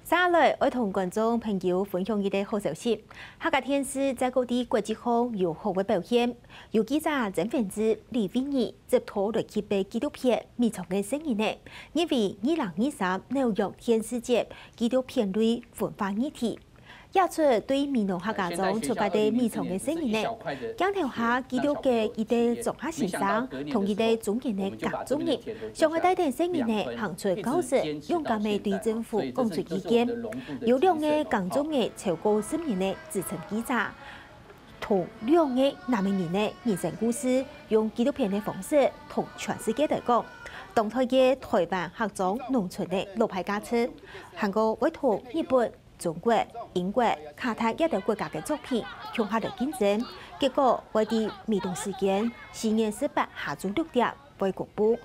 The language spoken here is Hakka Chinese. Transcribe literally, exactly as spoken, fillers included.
接下來愛同觀眾朋友分享一個好消息，客家電視再過在國際上有好个表現。有記者曾文志、李惠儀執導來揭秘紀錄片《美濃个細人仔》，入圍二零二三紐約電視節紀錄片類文化議題。這齣對美濃客家庄出發个美濃个細人仔，鏡頭下記錄个一個庄下先生同一個中年个耕種人，想愛帶等細人仔行出教室，勇敢个對政府講出意見。有兩個耕種人超過十年个資深記者，同兩個男仔人个人生故事，用紀錄片个方式同全世界來講，當代个台灣客庄農村个老派價值，還過會同日本、中國、英國、卡達這兜國家个作品共下來競爭，結果會在美東時間四月十八下晝六點會公布。